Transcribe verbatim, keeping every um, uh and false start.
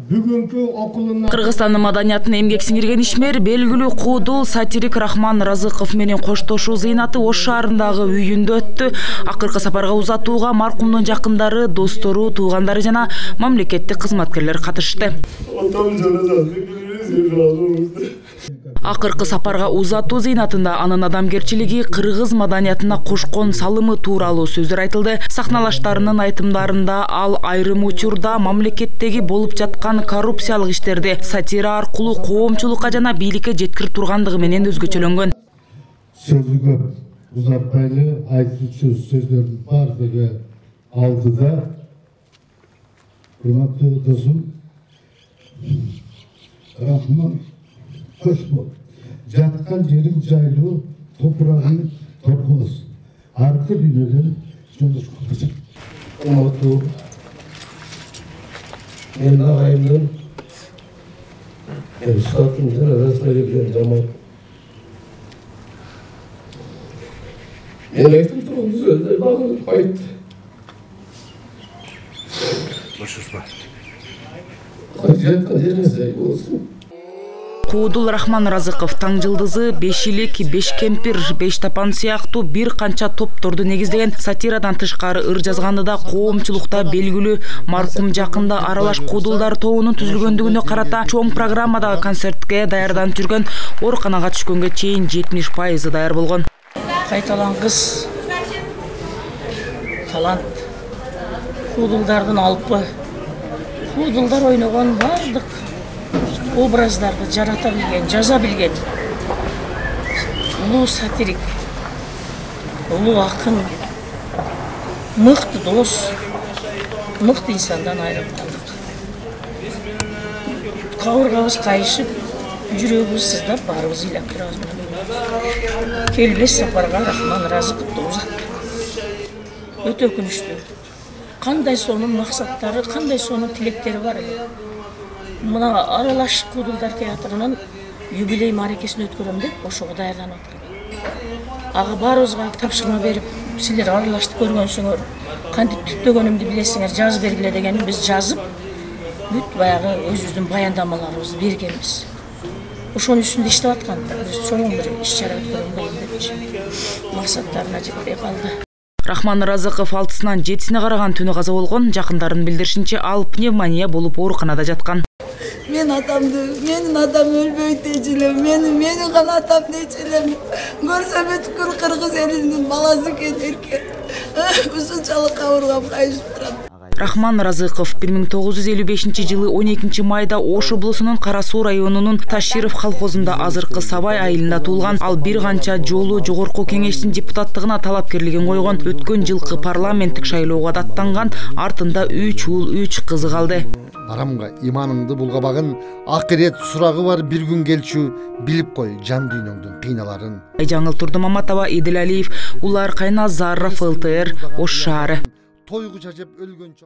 бүгүнкү окулуна Кыргызстандын маданиятына эмгек сиңирген ишмер белгилүү куудул сатирик Рахман Разыков менен коштошуу зыйнаты Ош шаарындагы үйүндө өттү. Акыркы сапарга узатууга маркумдун жакындары, достору, туугандары жана мамлекеттик кызматкерлер катышты. Акыркы сапарга узатуу зыйнатында анын адамгерчилиги, кыргыз маданиятына кошкон салымы тууралуу сөздөр айтылды. Сахналаштарынын айтымдарында ал айрым учурда мамлекеттеги болуп жаткан коррупциялык иштерди сатира аркылуу коомчулукка жана бийликке жеткирип тургандыгы менен өзгөчөлөнгөн. Сөзү көп узатпайлы айтуучу сөздөрдүн бардыгы алдыда. Урматтуу досум Рахман Кошмо, жаткан жериң жайлуу, топурагың торкоз. Аркы дүйнөдөн жолдош болчу. Урматтуу мен агайымдын статым жана расмерден жаман. Мен айтып турган сөздөр багып айтты. Башышпа. Жаткан жериң жайлуу болсун. Куудул Рахман Разыков таң жылдызы, беш илик, беш кемпир, беш тапан сыяктуу бир канча топторду негиздеген сатирадан тышкары ыр жазганды да коомчулукта белгилүү маркум жакында аралаш куудулдар тобунун түзүлгөндүгүнө карата чоң программадагы концертке даярданып жүргөн ооруканага түшкөнгө чейин жетимиш пайызы даяр болгон. Кайталангыс талант, куудулдардын алпы, куудулдар ойногон бардык образдарды жарата билген, жаза билген улуу сатирик, улуу акын, мыкты дос, мыкты инсандан айрылып калдык. Кабыргабыз кайышып, жүрөгүбүз сыздап, баарыбыз ыйлап турабыз. Келбес сапарга Рахман Разыковду узаттык. Өтө өкүнүчтүү. Кандай сонун максаттары, кандай сонун тилектери бар эле. Мына аралаш куудулдар театрынын юбилей мааракесин өткөрөм деп ошого даярданып аткан. Ага баарыбызга тапшырма берип, силер аралашты көргөнсүңөр, кантип түптөгөнүмдү билесиңер, жазып бергиле дегени биз жазып, бүт баягы өзүбүздүн баяндамаларыбызды бергенбиз. Ошонун үстүндө иштеп аткан, биз чоң бир иш-чара өткөрөм депчи. Максаттарына жетпей калды. Рахман Разыков алтысынан жетисине караган түнү каза болгон. Жакындарынын билдиришинче, ал пневмония болуп ооруканада жаткан. Мен атамды, менин атам өлбөйт дечилем, мени менин гана атам дечилем. Көрсөм бүткүл кыргыз элинин баласы экен эрке. Ушунчалык кабыргам кайышып турат. Рахман Разыков бир миң тогуз жүз элүү бешинчи жылы он экинчи майда Ош облусунун Кара Суу районунун Таширов колхозунда азыркы Сабай айылында туулган. Ал бир канча жолу жогорку кеңештин депутаттыгына талапкерлигин койгон. Өткөн жылкы парламенттик шайлоого даттанган, артында үч уул, үч кызы калды. Арамга иманыңды булгабагын, акырет сурагы бар бир күн келчү, билип кой жан дүйнөңдүн кыйналарын. Жаңыл Турдумаматова, Идил Алиев, Улар Кайназаров, эл тэ эр, Ош шаары. Тойгу жажып өлгөнчө